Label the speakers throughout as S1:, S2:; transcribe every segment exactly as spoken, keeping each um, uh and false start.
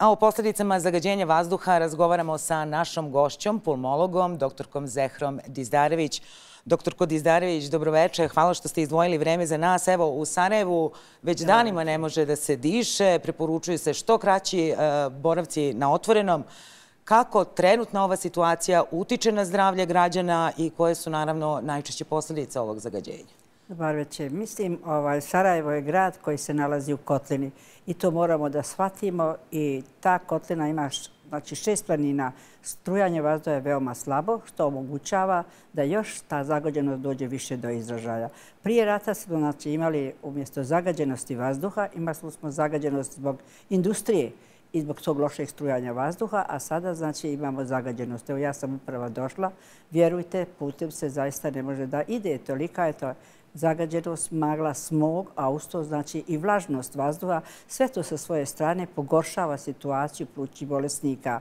S1: A o posljedicama zagađenja vazduha razgovaramo sa našom gošćom, pulmologom, doktorkom Zehrom Dizdarević. Doktorko Dizdarević, dobroveče. Hvala što ste izdvojili vreme za nas. Evo, u Sarajevu već danima ne može da se diše. Preporučuju se što kraći boravci na otvorenom. Kako trenutna ova situacija utiče na zdravlje građana i koje su naravno najčešće posljedice ovog zagađenja?
S2: Dobar večer. Mislim, ovaj, Sarajevo je grad koji se nalazi u kotlini i to moramo da shvatimo i ta kotlina ima znači, šest planina. Strujanje vazduha je veoma slabo, što omogućava da još ta zagađenost dođe više do izražaja. Prije rata smo znači, imali umjesto zagađenosti vazduha, imali smo zagađenost zbog industrije i zbog tog lošeg strujanja vazduha, a sada znači imamo zagađenost. Evo ja sam upravo došla, vjerujte, putem se zaista ne može da ide, tolika je to zagađenost, magla, smog, a uz to znači i vlažnost vazduha. Sve to sa svoje strane pogoršava situaciju plućnih bolesnika.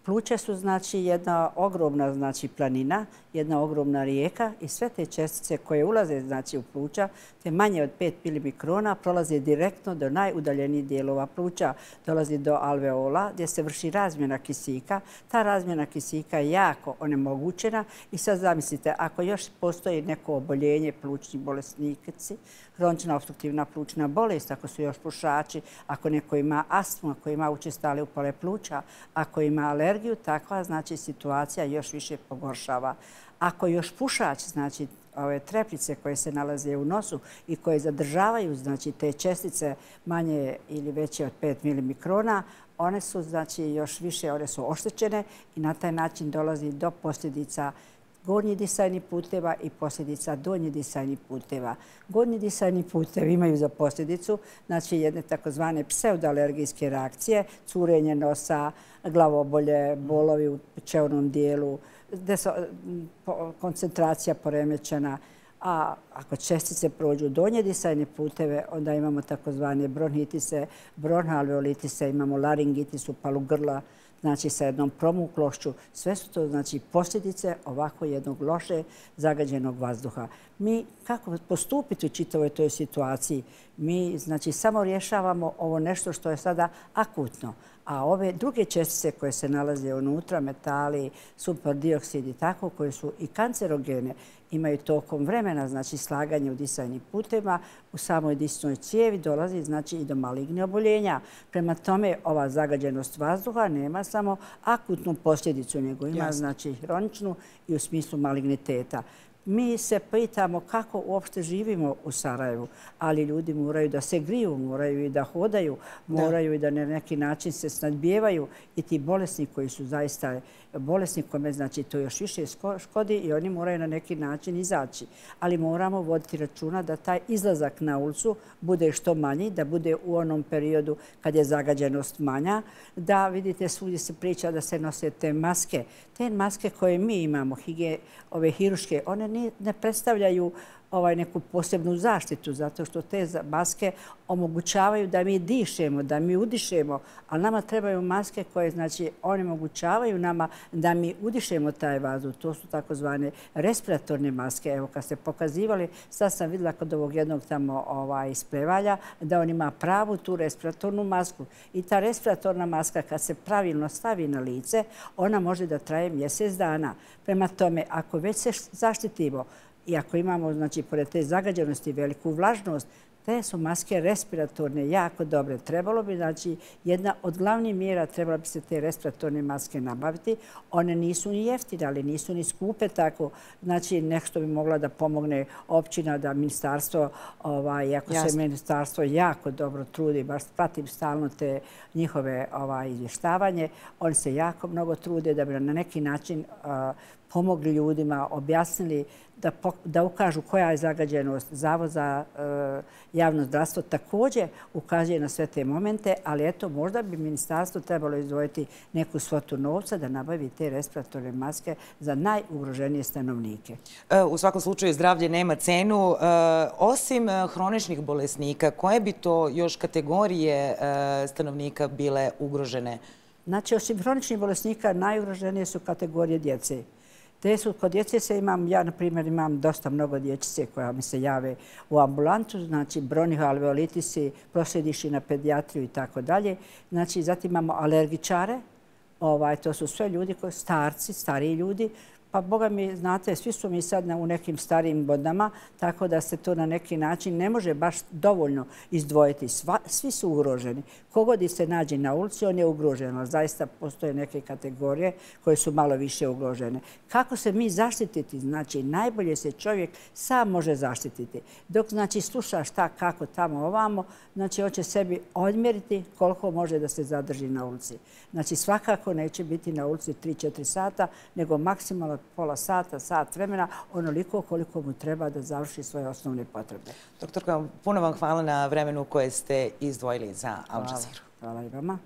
S2: Pluća su znači jedna ogromna znači planina, jedna ogromna rijeka i sve te čestice koje ulaze znači u pluća, te manje od pet milimikrona, prolaze direktno do najudaljenijih dijelova pluća, dolazi do alveola gdje se vrši razmjena kisika. Ta razmjena kisika je jako onemogućena i sad zamislite, ako još postoji neko oboljenje plućni bolesnici, hronična opstruktivna plućna bolest, ako su još pušači, ako neko ima astmu, ako ima učestale upale pluća, ako ima alergiju, takva znači situacija još više pogoršava. Ako još pušač, znači ove treplice koje se nalaze u nosu i koje zadržavaju znači te čestice manje ili veće od pet milimikrona, one su znači još više, one su oštećene i na taj način dolazi do posljedica gornjih disajnih puteva i posljedica donjih disajnih puteva. Gornji disajni putevi imaju za posljedicu znači jedne takozvane pseudoalergijske reakcije, curenje nosa, glavobolje, bolovi u čevnom dijelu, koncentracija poremećena. A ako čestice prođu donje disajne puteve, onda imamo takozvane bronhitise, bronhalveolitise, imamo laringitis, upalu grla, znači sa jednom promuklošću. Sve su to znači posljedice ovako jednog loše zagađenog vazduha. Mi kako postupiti u čitavoj toj situaciji? Mi znači samo rješavamo ovo nešto što je sada akutno. A ove druge čestice koje se nalaze unutra, metali, sumpor dioksid i tako, koje su i kancerogene, imaju tokom vremena znači slaganje u disajnim putevima, u samoj disnoj cijevi dolazi znači i do malignih oboljenja. Prema tome, ova zagađenost vazduha nema samo akutnu posljedicu, nego ima znači hroničnu i u smislu maligniteta. Mi se pitamo kako uopšte živimo u Sarajevu, ali ljudi moraju da se griju, moraju i da hodaju, moraju i da na neki način se snadbijevaju i ti bolesni koji su zaista bolesni, kome znači to još više škodi i oni moraju na neki način izaći. Ali moramo voditi računa da taj izlazak na ulicu bude što manji, da bude u onom periodu kad je zagađenost manja, da vidite svugdje se priča da se nose te maske. Te maske koje mi imamo, ove hiruške, one ne predstavljaju ovaj, neku posebnu zaštitu, zato što te maske omogućavaju da mi dišemo, da mi udišemo, ali nama trebaju maske koje znači, onemogućavaju nama da mi udišemo taj vazduh. To su takozvane respiratorne maske. Evo, kad ste pokazivali, sad sam vidjela kod ovog jednog tamo ovaj, isprevalja da on ima pravu tu respiratornu masku. I ta respiratorna maska kad se pravilno stavi na lice, ona može da traje mjesec dana. Prema tome, ako već se zaštitimo, i ako imamo, znači, pored te zagađenosti veliku vlažnost, te su maske respiratorne jako dobre. Trebalo bi, znači, jedna od glavnih mjera trebalo bi se te respiratorne maske nabaviti. One nisu ni jeftine, ali nisu ni skupe tako. Znači, nešto bi mogla da pomogne općina, da ministarstvo, ovaj, ako se ministarstvo jako dobro trudi, baš pratim stalno te njihove ovaj, izvještavanje, oni se jako mnogo trude da bi na neki način uh, pomogli ljudima, objasnili da, da ukažu koja je zagađenost. Zavod za e, javno zdravstvo također ukazuje na sve te momente, ali eto, možda bi ministarstvo trebalo izdvojiti neku svotu novca da nabavi te respiratorne maske za najugroženije stanovnike.
S1: E, u svakom slučaju zdravlje nema cenu. E, osim hroničnih bolesnika, koje bi to još kategorije e, stanovnika bile ugrožene?
S2: Znači, osim hroničnih bolesnika, najugroženije su kategorije djece. Te su, kod djece se imam, ja na primjer imam dosta mnogo dječice koja mi se jave u ambulantu, znači bronhihalveolitisi, proslijediši na pedijatriju i tako dalje. Znači, zatim imamo alergičare, ovaj, to su sve ljudi koji starci, stariji ljudi. Pa, boga mi, znate, svi su mi sad u nekim starijim godinama, tako da se to na neki način ne može baš dovoljno izdvojiti. Sva, svi su ugroženi. Kogod se nađe na ulici, on je ugrožen. Ali zaista postoje neke kategorije koje su malo više ugrožene. Kako se mi zaštititi? Znači, najbolje se čovjek sam može zaštititi. Dok, znači, sluša šta, kako, tamo, ovamo, znači, on će sebi odmjeriti koliko može da se zadrži na ulici. Znači, svakako neće biti na ulici tri do četiri sata, nego maksimalno pola sata, sat vremena, onoliko koliko mu treba da završi svoje osnovne potrebe.
S1: Doktorka, puno vam hvala na vremenu koje ste izdvojili za Al Jazeera.
S2: Hvala i vama.